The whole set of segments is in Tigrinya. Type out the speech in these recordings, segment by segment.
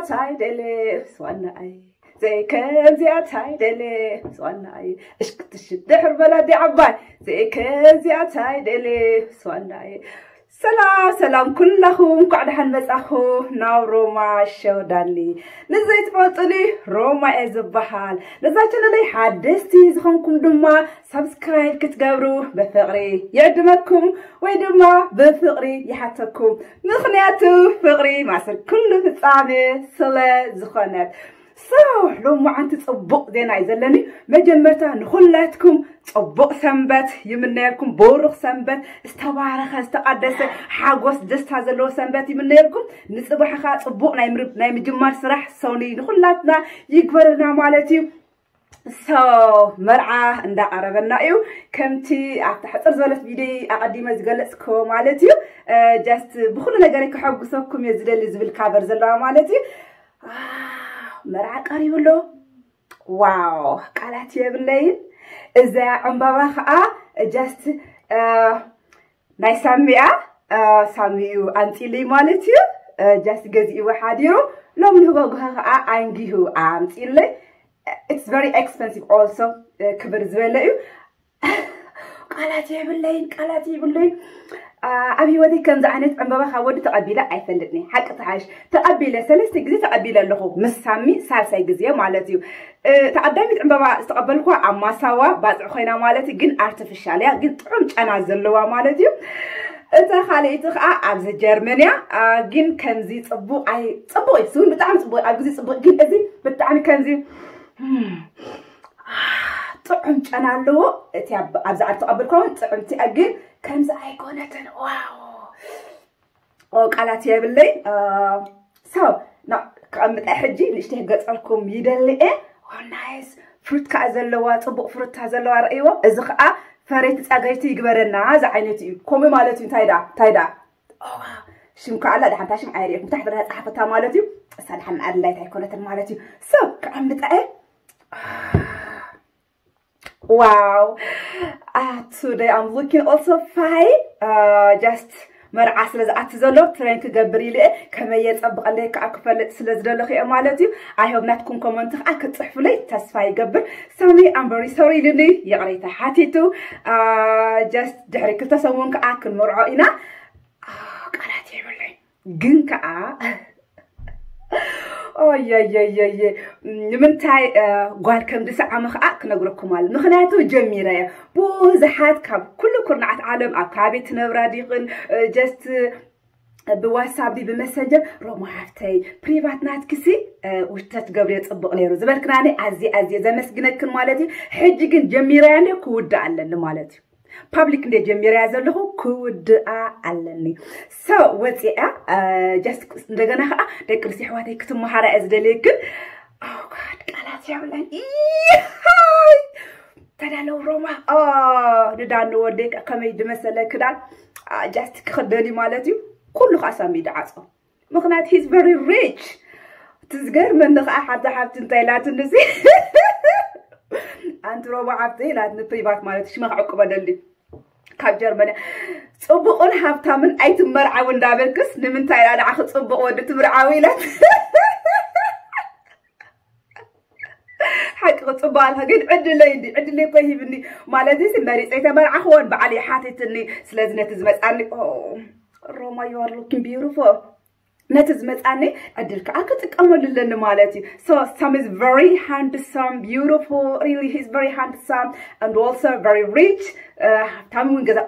ታይ ደለ ስዋናይ፣ ዘይከምዚኣ ታይ ደለ ስዋናይ፣ እሽክትሽ ድሕር በላ ኣዲ ዓባይ፣ ዘይከምዚኣ ታይ ደለ ስዋናይ። ሰላም ሰላም ኩላኹም፣ እንኳዕ ደሓን መጻኹ ናብ ሮማ ሸው ዳኒ። ንዘይትፈልጡኒ፣ ሮማ እየ ዝበሃል። ነዛ ቻነለይ ሓደስቲ ዝኾንኩም ድማ ሳብስክራይብ ክትገብሩ ብፍቕሪ ይዕድመኩም፣ ወይ ድማ ብፍቕሪ ይሓተኩም። ምኽንያቱ ፍቕሪ ማእሰር ኩሉ ፍጻሜ ስለ ዝኾነት። So፣ ሎማዓንቲ ጽቡቕ ዜና እዩ ዘለኒ። መጀመርታ ንኹላትኩም ጽቡቕ ሰንበት ይምነየልኩም። ብሩኽ ሰንበት፣ ዝተባረኸ፣ ዝተቐደሰ፣ ሓጎስ፣ ደስታ ዘለዎ ሰንበት ይምነየልኩም። ንጽባሕ ኸኣ ጽቡቕ ናይ ምር-፣ ናይ ምጅማር ስራሕ ሰኑይ ንኹላትና ይግበረልና ማለት እዩ። So፣ መርዓ እንዳቐረበና እዩ። ከምቲ ኣብታ ሕጽር ዝበለት ቪድዮ ኣቐዲመ ዝገለጽክዎ ማለት እዩ። እ፣ just ብኹሉ ነገረይ ከሐጉሰኩም እየ ዝደሊ ዝብል ካቨር ዘለዋ ማለት እዩ። አ፣ መርዓ ቀሪቡ ኣሎ። ዋው፣ ቃላት የብለይን። እዛ ዕምባባ ኸኣ just፣ እ፣ ናይ ሳሚ እያ። እ፣ ሳሚ እዩ ኣምጺልይ ማለት እዩ። እ፣ just ገዚእዎ ሓዲሩ፣ ሎሚ ንህጎግሆ ኸኣ ኣንጊሁ ኣምጺልይ። It's very expensive also፣ እ፣ ክብር ዝበለ እዩ። ቃላት የብለይን፣ ቃላት የብለይን። አ፣ ኣብ ህይወተይ ከምዚ ዓይነት ዕምባባ ካብ ወዲ ተቐቢለ ኣይፈልጥን እየ። ሓቂ ተሓሽ ተቐቢለ፣ ሰለስተ ግዜ ተቐቢለ ኣለኹ። ምስ ሳሚ ሳልሳይ ግዜ ማለት እዩ። እ፣ እታ ቀዳሚት ዕምባባ ዝተቐበልኳ ኣብ ማሳዋ ባጽዕ ኮይና ማለት እዩ፣ ግን ኣርቲፊሻል እያ፣ ግን ጥዑም ጨና ዘለዋ ማለት እዩ። እታ ካልኣይቲ ኸኣ ኣብዚ ጀርመን እያ። አ፣ ግን ከምዚ ጽቡቕ ኣይ-፣ ጽቡቕ እዩ፣ ስውን ብጣዕሚ ጽቡቕ፣ ኣብ ግዜ ጽቡቕ፣ ግን እዚ ብጣዕሚ ከምዚ፣ ም፣ ጥዑም ጨና ኣለዎ። እቲ ኣብ-፣ ኣብዚ ዓዲ ተቐበልኳ እውን ጥዕምቲ እያ፣ ግን ከምዚ ኣይኮነትን። ዋው! ኦ፣ ቃላት የብለይ። እ፣ so፣ ና-፣ ክቐምጠ ሕጂ ንእሽተይ ክገጸልኩም ይደሊ እየ። ኦ፣ ናይስ። ፍሩት ከኣ ዘለዋ፣ ጽቡቕ ፍሩታ ዘለዋ ረእይዎ። እዚ ከኣ ፈረይቲ ጸገይቲ ይግበረና ዝዓይነቱ እዩ። ከምኡ ማለት እዩ። እንታይ ደኣ? እንታይ ደኣ? ኦ፣ ሽም ከኣ ኣላ፣ ደሓን እታ ሽም ኣይርእየኩም። ታሕቲ ደኣ ጸሓፈታ ማለት እዩ። እሳ ደሓን ኣድላይት ኣይኮነትን ማለት እዩ። So፣ ክቐምጠ እየ። ዋው። Uh, today I'm looking also fine. Uh, just መርዓ ስለ ዝኣቲ ዘሎ ትሬን ክገብር ኢለ እየ። ከመይ የጸብቐለይ ከኣ ክፈልጥ ስለ ዝደለኹ እየ ማለት እዩ። I hope ናትኩም ኮመንት ከኣ ክትጽሕፉለይ ተስፋ ይገብር። ሳሚ፣ I'm very sorry ኢሉኒ፣ ይቕሬታ ሓቲቱ። Uh, just ድሕሪ ክልተ ሰሙን ከኣ ክንመርዖ ኢና። Uh, ቃላት የብለይ። ግን ከኣ ኦየየየየ፣ ንምንታይ፣ እ፣ ጓል ከም ዝሰዓመ ኸዓ ክነግረኩም ኣሎ። ምኽንያቱ ጀሚረዮ። ብዙሓት ካብ ኩሉ ኩርናዓት ዓለም ኣብ ከባቢ ትነብራ ዲኽን፣ እ፣ just ብዋትሳፕ ድዩ ብመሰንጀር፣ "ሮማ ሓፍተይ፣ ፕሪቫት ናትክሲ፣ እ፣ ውሽተት ገብርዮ ጽቡቕ ነይሩ" ዝበልክናኒ ኣዝየ ኣዝየ ዘመስግነክን ማለት እዩ። ሕጂ ግን ጀሚረያ እንድየ ክውድእ ኣለኒ ማለት እዩ። ፓብሊክ እንደ ጀሚረያ ዘለኹ ክውድኣ ኣለኒ። So፣ ወፂኣ፣ እ፣ just እንደገና ከዓ ደቂ ኣንስትዮ ኣሕዋተይ ክትመሃራ እየ ዝደልየክን። Oh God፣ ቃላት የብለን። ኢሃይ! ተዳለው ሮማ። ኦ፣ ንዳኒ ወደይ ከ ከመይ ዝመሰለ ክዳን፣ አ፣ just ክኽደን እዩ ማለት እዩ። ኩሉ ከዓ ሳሚ ይድዓፆ። ምኽንያቱ he's very rich። እቲ ዝገርመኒ ከዓ ሓንቲ ሓብቲ እንታይ ኢላትኒ እዚ፣ ኣንቲ ሮማ ሓብቲ ኢላትኒ፣ ፕሪቫት ማለት ሽማ ክዕቁበለሊ ካብ ጀርመን እያ። ጽቡቕን ሃብታምን ኣይትመርዓዊ እንዳበልክስ ንምንታይ ኢላ ንዓኺ ጽቡቕ ወዲ ትምርዓዊ ኢላት። ሓቂ ክጽባልካ ግን ዕድለይ እንዲ ዕድለይ እኮ ሂብኒ ማለት እዚ መሪጸ ኣይተመርዓኽዎን በዓል ይሓትትኒ። ስለዚ ነቲ ዝመጻኒ፣ ኦ፣ ሮማ you are looking beautiful፣ ነቲ ዝመጻኒ ዕድል ከዓ ክጥቀመሉ ኣለኒ ማለት እዩ። So Sam is very handsome, beautiful, really he's very handsome and also very rich። Uh, ሃብታም እውን ገዛ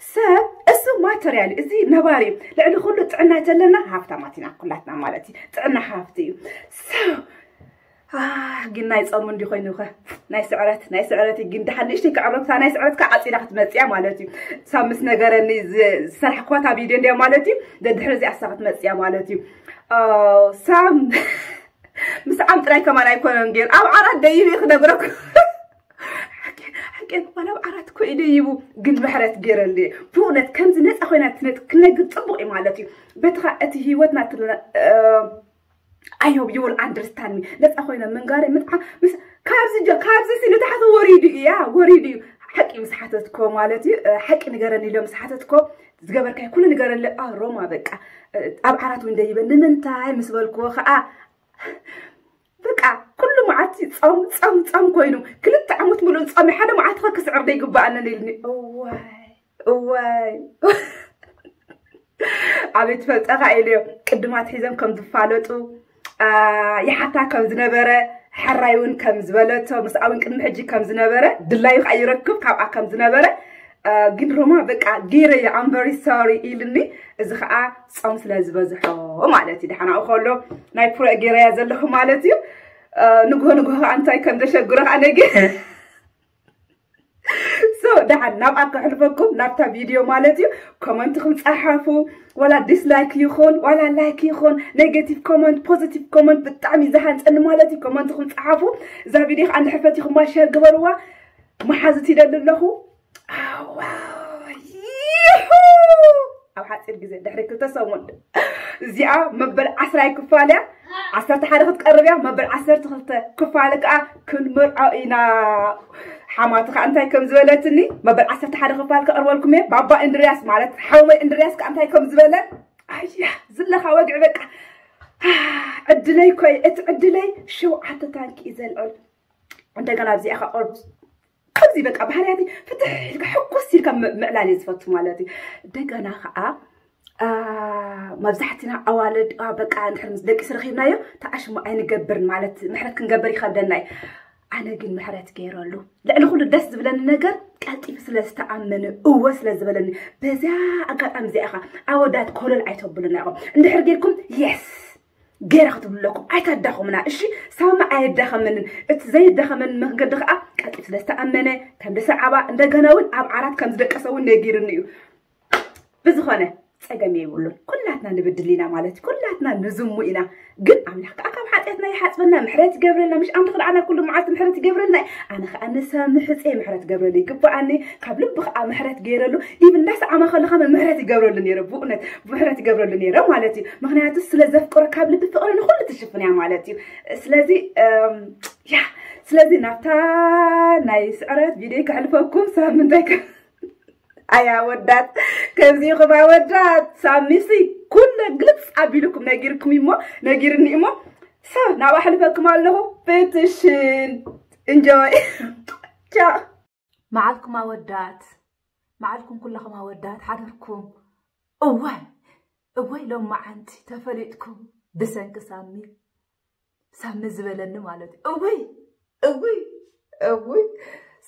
ሰብ እሱ ማተርያል እዩ። እዚ ነባሪ እዩ። ልዕሊ ኩሉ ጥዕና ተለና ሃብታማት ኢና ኩላትና ማለት እዩ። ጥዕና ሃብቲ እዩ። So Ah፣ ግን ናይ ጾም እንዲ ኮይኑ ኸ ናይ ስዕረት፣ ናይ ስዕረት ግን ደሓን ንእሽተይ ክዕረብታ ናይ ስዕረት ከዓ ዓፂዳ ክትመፅያ ማለት እዩ። ሳም ምስ ነገረኒ ዝ-፣ ዝሰርሕኳታ ቪድዮ እንዲያ ማለት እዩ። ደድሕሪ እዚኣ እሳ ክትመፅያ ማለት እዩ። Oh፣ ሳም ምስ ዓም ጥራይ ከማን ኣይኮነን ገይሩ ኣብ ዓራት ደይቡ እዩ ክነግረኩ። ሓቂ፣ ሓቂ፣ ዋላ ኣብ ዓራት እኮ እዩ ደይቡ፣ ግን ምሕረት ገይረሉ እየ። ብእውነት ከምዚ ነፃ ኮይና ትነ-፣ ክነግር ፅቡቅ እዩ ማለት እዩ። በቲ ኸ-፣ እቲ ህይወትና ትለ-፣ እ፣ I hope you will understand me። ነፃ ኮይነ ምንጋረይ ምጥዓ ምስ፣ ካብዚ ጀ-፣ ካብዚ ሲ ንታሕቲ ወሪዱ እያ፣ ወሪዱ እዩ። ሓቂ ምስ ሓተትኮ ማለት እዩ፣ እ፣ ሓቂ ንገረኒ ኢሎ ምስ ሓተትኮ ዝገበርካይ ኩሉ ንገረለ። ኣ፣ ሮማ በቃ፣ እ፣ ኣብ ዓራት እውን ደይበ ንምንታይ ምስ በልክዎ ኸዓ በቃ ኩሉ መዓልቲ ጾም ጾም ጾም ኮይኑ ክልተ ዓመት ሙሉእ ጾም ሓደ መዓልቲ ከ ክስዕር ዶ ይግባኣኒ ኢልኒ። እዋይ እዋይ ኣቤት ፈልጠኻ ኢለዮ። ቅድማት ሒዘም ከም ዝፋለጡ ይሓታ ከም ዝነበረ፣ ሕራይ እውን ከም ዝበለቶ፣ ምስኣ እውን ቅድሚ ሕጂ ከም ዝነበረ፣ ድላዩ ከዓ ይረክብ ካብኣ ከም ዝነበረ፣ ግን ሮማ በቃ ገይረዮ ኣምበሪ ሶሪ ኢልኒ። እዚ ከዓ ፆም ስለ ዝበዝሖ ማለት እዩ። ደሓናኡ ከሎ ናይ ፕሮእ ገይረያ ዘለኹ ማለት እዩ። ንግሆ ንግሆ ከዓ እንታይ ከም ዘሸግሮ ከዓ ነጊ ሶ ደሓን ናብኣ ከሕልፈኩም ናብታ ቪድዮ ማለት እዩ። ኮመንትኹም ፃሓፉ፣ ዋላ ዲስላይክ ይኹን ዋላ ላይክ ይኹን፣ ኔጌቲቭ ኮመንት ፖዚቲቭ ኮመንት ብጣዕሚ ዝሃንፀኒ ማለት እዩ። ኮመንትኹም ፃሓፉ። እዛ ቪድዮ ከዓ እንድሕር ፈቲኹማ ሸር ግበርዋ። መሓዙት ይደሊ ኣለኹ። ኣዋ፣ ይሑ! ኣብ ሓፂር ግዜ ድሕሪ ክልተ ሰሙን እዚኣ መበል ዓስራይ ክፋል እያ። ዓሰርተ ሓደ ክትቀርብ እያ። መበል ዓሰርተ ክልተ ክፋል ከዓ ክንምርዖ ኢና። ሓማቲ ከዓ እንታይ ከም ዝበለትኒ መበል ዓሰርተ ሓደ ክፋል ከቅርበልኩም እየ። ባባ እንድርያስ ማለት ሓወይ እንድርያስ ከዓ እንታይ ከም ዝበለ ኣያ ዝለካ ወግዒ በቃ ዕድለይ ኮይ እቲ ዕድለይ ሸውዓተ ታንኪ እዩ ዘልዕል። እንደገና ኣብዚኣ ከቅርብ ከምዚ በቃ ባህርያት ፍትሕ ኢልካ ሕኩስ ኢልካ ምዕላል እየ ዝፈቱ ማለት እዩ። እንደገና ከዓ መብዛሕትና ኣዋልድ በቃ እንድሕር ምስ ደቂ ስረኺብናዮ ተኣሽሙ ኣይንገብርን ማለት ምሕረት ክንገብር ይኸብደና እዩ። ኣነ ግን ምሕረት ገይረሉ። ልዕሊ ኩሉ ደስ ዝብለኒ ነገር ቀልጢፉ ስለ ዝተኣመነ እወ ስለ ዝበለኒ በዚያ ኣጋጣሚ እዚኣ ኻ ኣወዳት ኮለል ኣይተብሉና ኢኹም። እንድሕር ጌርኩም የስ ገይራ ክትብሉ ኣለኩም። ኣይታዳኸሙና እሺ። ሳሚ ኣየዳኸመንን። እቲ ዘየዳኸመኒ መንገዲ ከዓ ቀልጢፉ ስለ ዝተኣመነ ከም ደሰዓባ እንደገና እውን ኣብ ዓራት ከም ዝደቀሰ እውን ነጊርኒ እዩ። ብዝኾነ ፀገም የብሉን። ኩላትና ንብድል ኢና ማለት እዩ። ኩላትና ንዝሙ ኢና። ግን ኣምላኽ ከዓ ካብ ሓጢኣትና ይሓፅበና፣ ምሕረት ይገብረልና። ምሽ ኣምላኽ ንዓና ኩሉ መዓልቲ ምሕረት ይገብረልና እዩ። ኣነ ከዓ ንሳሚ ሕፀ ምሕረት ገብረሉ ይግባኣኒ። ካብ ልቢ ከዓ ምሕረት ገይረሉ ኢብ እንዳሰዓማ ከለኻ ምሕረት ይገብረሉ ነይረ። ብእውነት ምሕረት ይገብረሉ ነይረ ማለት እዩ። ምክንያቱ ስለ ዘፍቅሮ ካብ ልቢ ፍቅሪ ንኩሉ ትሽፍን እያ ማለት እዩ። ስለዚ ያ ስለዚ ናብታ ናይ ስዕረት ቪድዮ ከሕልፈኩም ሳምንታይ ኣያ ወዳት ከምዚ ኢኹም ኣወዳት ሳሚሲ ኩለ ግልፅ ኣቢልኩም ነጊርኩም እሞ ነጊርኒ እሞ ሰብ ናብ ኣሕልፈኩም ኣለኹ። ፕትሽን እንጆይ ቻ መዓልኩም ኣወዳት መዓልኩም ኩለኹም ኣወዳት ሓደርኩም። እዋይ እወይ ሎም መዓንቲ ተፈሊጥኩም ብሰንኪ ሳሚ ሳሚ ዝበለኒ ማለት እዩ። እውይ እውይ እውይ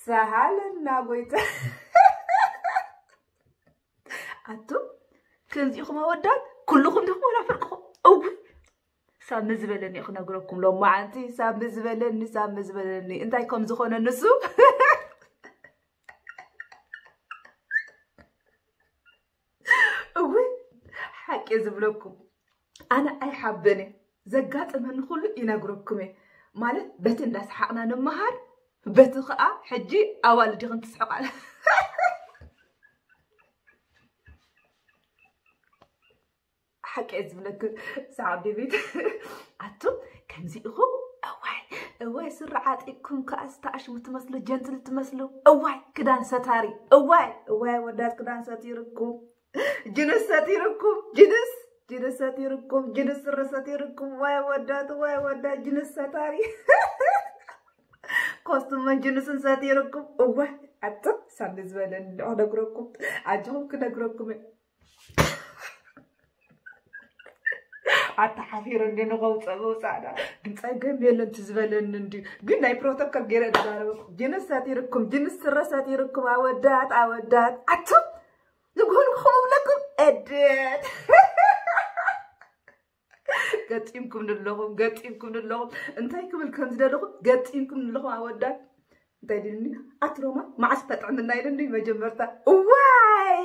ሰሃለና ጎይታ ኣቱ ከምዚኹም ኣወዳት ኩልኹም ዲኹም ወላ ፍርቅኹም እውይ ሳሚ ዝበለኒ ክነግረኩም ሎም መዓንቲ ሳሚ ዝበለኒ ሳሚ ዝበለኒ እንታይ ከም ዝኾነ ንሱ እውይ ሓቂ ዝብለኩም ኣነ ኣይሓበን እየ ዘጋጠመኒ ኩሉ ይነግረኩም እየ ማለት በቲ እንዳሰሓቕና ንመሃር በቲ ከዓ ሕጂ ኣዋልድ ይኽን ትስሕቕ ኣለ ሓቂ እየ ዝብለክ ሰዓብ ቤት ኣቱም ከምዚ ኢኹም እዋይ እዋይ ስረ ዓጢቅኩም ከዓ ዝተኣሽሙ ትመስሉ ጀንትል ትመስሉ እዋይ ክዳን ሰታሪ እዋይ እዋይ ወዳት ክዳን ሰቲርኩም ጅንስ ሰቲርኩም ጅንስ ጅንስ ሰቲርኩም ጅንስ ስረ ሰቲርኩም ዋይ ወዳት ዋይ ወዳት ጅንስ ሰታሪ ኮስቱመን ጅንስን ሰቲርኩም እዋይ ኣቱም ሳሚ ዝበለኒ ክነግረኩም ኣጆኹም ክነግረኩም ኣተሓፊረ እንዲ ንኸውፀእ ምውፃእ ዳ ግን ፀገም የለን ትዝበለኒ እንዲ ግን ናይ ፕሮቶኮል ገይረ ዝዛረበኩም ጅንስ ሰቲርኩም ጅንስ ስረ ሰቲርኩም ኣወዳት ኣወዳት ኣቱም ንግሆ ንግሆ ክብለኩም እድት ገጢምኩም ንለኹም ገጢምኩም ንለኹም እንታይ ክብል ከም ዝደለኹም ገጢምኩም ንለኹም ኣወዳት እንታይ ድልኒ ኣትሮማ መዓስ ተጥዕምና ኢልኒ መጀመርታ እዋይ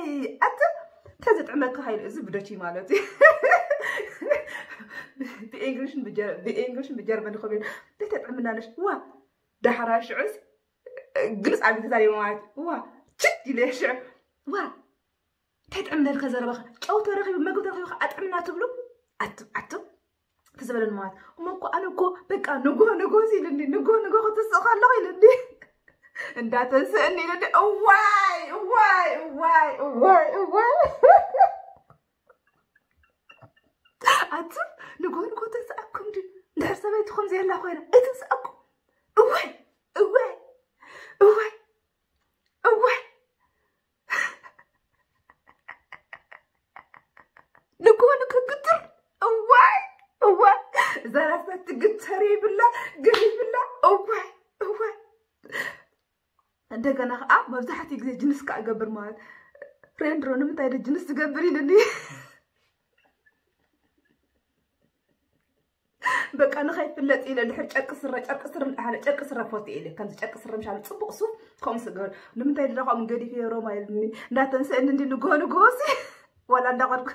ኣት ተዝጥዕመካ ሃይሉ እዚ ብደች ማለት እዩ ብእንግሊሽን ብጀርመን ይኸብ ዘይተጥዕምና ነሽ ዋ ዳሕራ ሽዑስ ግልፅ ኣብ ተዛሪበ ማለት ዋ ችት ኢለ ሽዑ ዋ እንታይ ጥዕምና ኢልካ ዘረባኻ ጨው ተረኺቡ መግቢ ተረኺቡ ኣጥዕምና ትብሉ ኣትም ኣትም ተዘበለኒ ማለት እሞ እኮ ኣነ እኮ በቃ ንጎ ንጎ ኢልኒ ንጎ ንጎ ክትስእ ከለኹ ኢልኒ እንዳተንስእኒ ኢልኒ እዋይ እዋይ እዋይ እዋይ እዋይ ኣትም ንጎ ንጎ ተንስኣኩም ድ እንድሕር ሰበይትኹም ዘየላ ኮይና እትንስኣኩም። እዋይ እዋይ እዋይ እዋይ ንጎኑ ክግትር። እዋይ እዋይ እዛ ራሳ ትግተር ይብላ ግር ይብላ። እዋይ እዋይ እንደገና ከዓ መብዛሕትኡ ግዜ ጅንስ ከዓ እገብር ማለት ፍሬንድ ሮ ንምንታይ ደ ጅንስ ዝገብር ኢልኒ። በቃ ንኸይፍለጥ ኢለ ድሕር ጨርቂ ስረ ጨርቂ ስረ ሓደ ጨርቂ ስረ ፎት ኢለ ከምዚ ጨርቂ ስረ ምሻሉ ፅቡቅ ሱፍ ከምኡ ስገር ንምንታይ ድዳ ከምኡ ገዲፍ ሮማ ኢልኒ እንዳተንስእኒ እንዲ ንጎ ንጎሲ ዋላ እንዳኸድኩ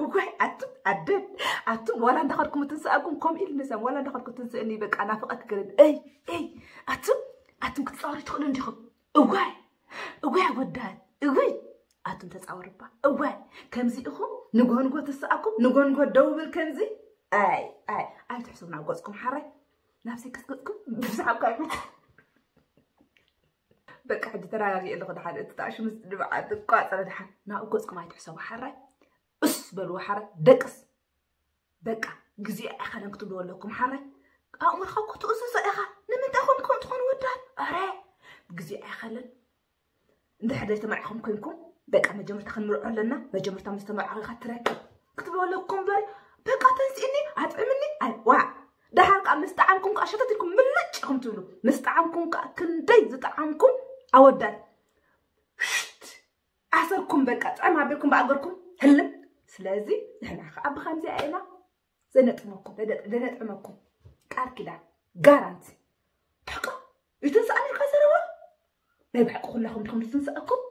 እዋይ ኣቱም ኣደን ኣቱም ዋላ እንዳኸድኩም ትንስኣኩም ከም ኢል ንሰም ዋላ እንዳኸድኩም ትንስእኒ በቃ ናፍቐት ገለን እይ እይ ኣቱም ኣቱም ክትፃወሩ ትኽእሉ እንዲኹም እዋይ እዋይ ኣወዳት እዋይ ኣቱም ተፃወርባ እዋይ ከምዚ ኢኹም ንጎንጎ ትስኣኩም ንጎንጎ ደውብል ከምዚ ኣይ ኣይ ኣይትሕሰቡ ናብ ገፅኩም ሓራይ ናብ ሰክስ ገፅኩም ብዛዕባ በቃ ሕጂ ተረጋጊ ኣለኹ ድሓደ እቲ ታሽሙ ድብዓት እኳ ፀረ ድሓን ናብ ገፅኩም ኣይትሕሰቡ ሓራይ እስ በልዎ ሓራይ ደቅስ በቃ ግዜ ኣይኸለን ክትብልዎ ኣለኩም ሓራይ ኣእምርካ እኮ ትእዝዞ ኢኻ ንምንታይ ኮን ትኾን ትኾን ወዳት ኣረ ግዜ ኣይኸለን እንድሕር ዘይተመርዓኹም ኮይንኩም በቃ መጀመርታ ክንምርዖ ኣለና መጀመርታ ምስ ተመርዓኹ ኢኻ ትረክብ ክትብልዎ ኣለኩም እምበር በቃ ተንስእኒ ኣጥዕምኒ ኣይ ዋ ደሓር ከዓ ምስ ጠዓምኩም ከዓ ሸተት ኢልኩም ምልጭ ኢኹም ትብሉ ምስ ጠዓምኩም ከዓ ክንደይ ዝጠዓምኩም ኣወዳት ሽት ኣሰርኩም በቃ ጥዕም ኣቢልኩም ብኣገርኩም ህልም ስለዚ ንሕና ከዓ ብከምዚኣ ኢና ዘነጥመኩም ዘነጥመኩም ቃል ኪዳን ጋራንቲ ሕቆ ይትንስኣን ኢልካ ዘረባ ናይ ብሓቂ ኩላኹም ድኹም ዝትንስኣኩም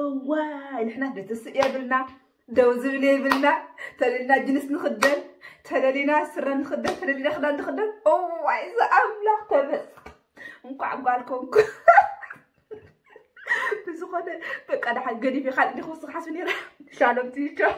እዋይ ንሕና ደትስእ የብልና ደው ዝብል የብልና ተለልና ጅንስ ንኽደን ተለሊና ስረ ንኽደን ተለሊና ክዳን ንኽደን እዋይ ዝኣምላኽ ተመስገን እንኳዕ ጓል ኮንኩ ብዝኾነ በቃ ደሓን ገዲፍ ካልእ ዲኹ ስኻስ ነራ ሻሎም ትይቸው